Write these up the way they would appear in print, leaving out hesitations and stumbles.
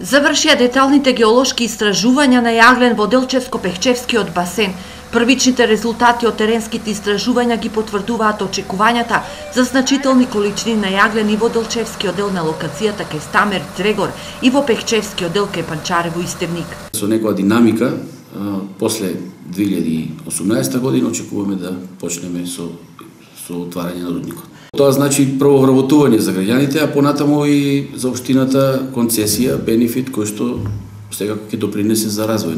Завршија деталните геолошки истражувања на јаглен во Делчевско-Пехчевскиот басен. Првичните резултати од теренските истражувања ги потврдуваат очекувањата за значителни количини на јаглен и во Делчевскиот дел на локацијата кај Стамер, Дрегор и во Пехчевскиот дел кај Панчарево и Стевник. Со некоја динамика, после 2018 година очекуваме да почнеме со отварање на рудникот. Тоа значи прво вработување за граѓаните, а понатаму и за општината концесија, бенефит кој што секако ќе допринесе за развој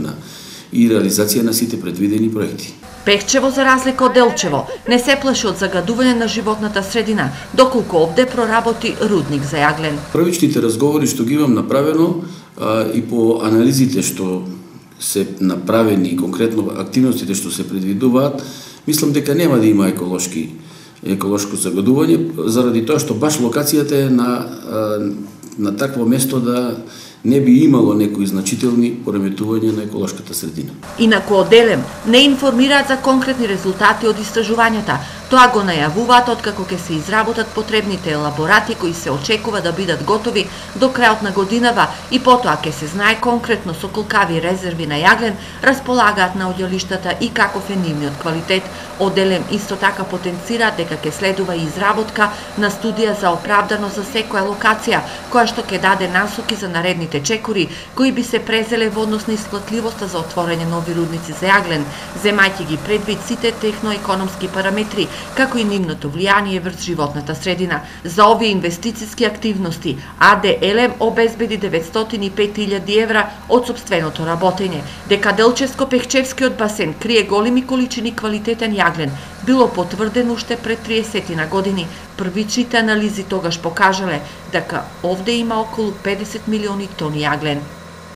и реализација на сите предвидени проекти. Пехчево, за разлика од Делчево, не се плаши од загадување на животната средина, доколку овде проработи рудник за јаглен. Првичните разговори што ги имам направено и по анализите што се направени, конкретно активностите што се предвидуваат, мислам дека нема да има еколошко загадување, заради тоа што баш локацијата е на такво место да не би имало некои значителни пореметувања на еколошката средина. Инаку од Елем не информираат за конкретни резултати од истражувањата. Тоа го најавуваат откако ќе се изработат потребните елаборати кои се очекува да бидат готови до крајот на годинава и потоа ќе се знае конкретно со колкави резерви на јаглен располагаат наоѓалиштата и каков е нивниот квалитет. Од Елем исто така потенцираат дека ќе следува и изработка на студија за оправданост за секоја локација, која што ќе даде насоки за наредните чекори кои би се презеле во однос на исплатливоста за отворање нови рудници за јаглен, земајќи ги предвид сите техноекономски параметри, како и нивното влијание врз животната средина. За овие инвестициски активности АД Елем обезбеди 905.000 евра од сопственото работење. Дека Делчевско-Пехчевскиот басен крие големи количини квалитетен јаглен, било потврдено уште пред 30 на години. Првичните анализи тогаш покажале дека овде има околу 50 милиони тони јаглен.